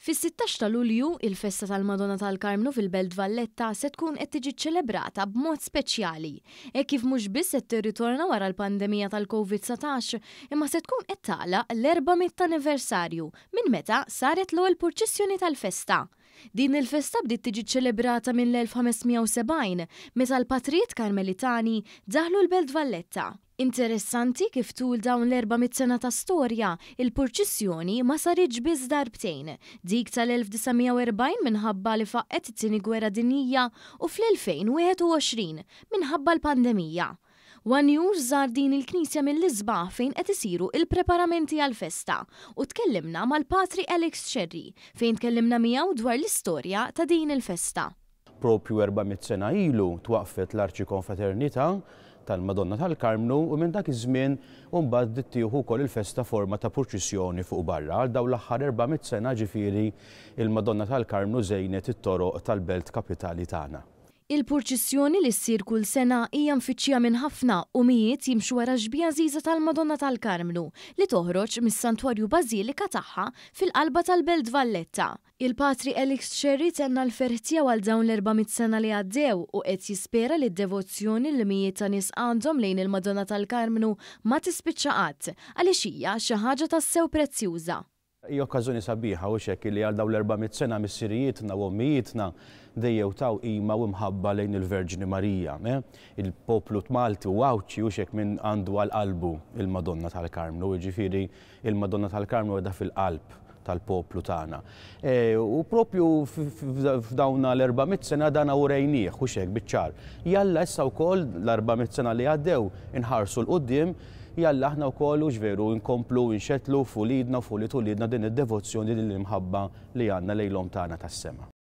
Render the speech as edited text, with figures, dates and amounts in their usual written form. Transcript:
Fis-16 ta' Lulju, il-festa tal-Madonna tal-Karmnu fil-Belt Valletta se tkun qed tiġi ċċelebrata b'mod speċjali, hekk kif mhux biss qed tirritorna wara l-pandemija tal-Covid-19, imma se tkun qed tagħlaq l-400 anniversarju minn meta saret l-ewwel purċissjoni tal-festa. Din il-festa bdiet tiġi ċċelebrata mill-1570 meta l-patrijiet Karmelitani daħlu l-Belt Valletta. Interessanti kif tul dawn l-400 sena ta' storja, il-purċissjoni ma saritx biss darbtejn, dik tal-1940 minħabba li faqqgħet it-Tieni Gwerra Dinjija u fl-2021 minħabba l-pandemija. One News żar din il-knisja mill-isbaħ fejn qed isiru il-preparamenti għall-festa u tkellimna mal-Patri Alex Scerri fejn tkellimna miegħu dwar l-istorja ta' din il-festa. Propju 400 sena ilu twaqfet l-Arċikonfraternità tal-Madonna tal-Karmnu u minn dak iż-żmien mbagħad bdiet tieħu wkoll il-festa forma ta' purċissjoni fuq barra. Għal dawn l-aħħar 400 sena ġifieri il-Madonna tal-Karmnu żejnet it-toroq tal-belt kapitali tagħna. Il-purċissjoni li ssir kull sena hija mfittxija minn ħafna u mijiet jimxu wara xbieha għażiża tal-Madonna tal-Karmnu li toħroġ mis-Santwarju Bażilika tagħha fil-qalba tal-Belt Valletta. Il-Patri Alex Scerri tenna l-ferħ tiegħu għal dawn l-400 sena li għaddew u qed jispera li d-devozzjoni li mijiet ta' nies għandhom lejn il-Madonna tal-Karmnu ma tispiċċa qatt għaliex hija xi ħaġa tassew prezzjuża. Hija okkażjoni sabiħa u hekk li għal dawn l-400 sena missirijietna u ommijietna dejjem taw qima u mħabba lejn il-Verġni Marija. Il-poplu Malti u Għawdxi u hekk min għandu għal qalbu il-Madonna tal-Karmnu, jiġifieri il-Madonna tal-Karmnu qiegħda fil-qalb tal-poplu tagħna. U propju f'dawn l-400 sena dan urejnieh u hekk biċ-ċar. Jalla issa wkoll l-400 sena li għaddew inħarsu 'l quddiem, jalla aħna wkoll u veru nkomplu nxetlu f'uliedna u f'ulied uliedna din id-devozzjoni, din l-imħabba li għandna lejn l-Omm tagħna tas-sema.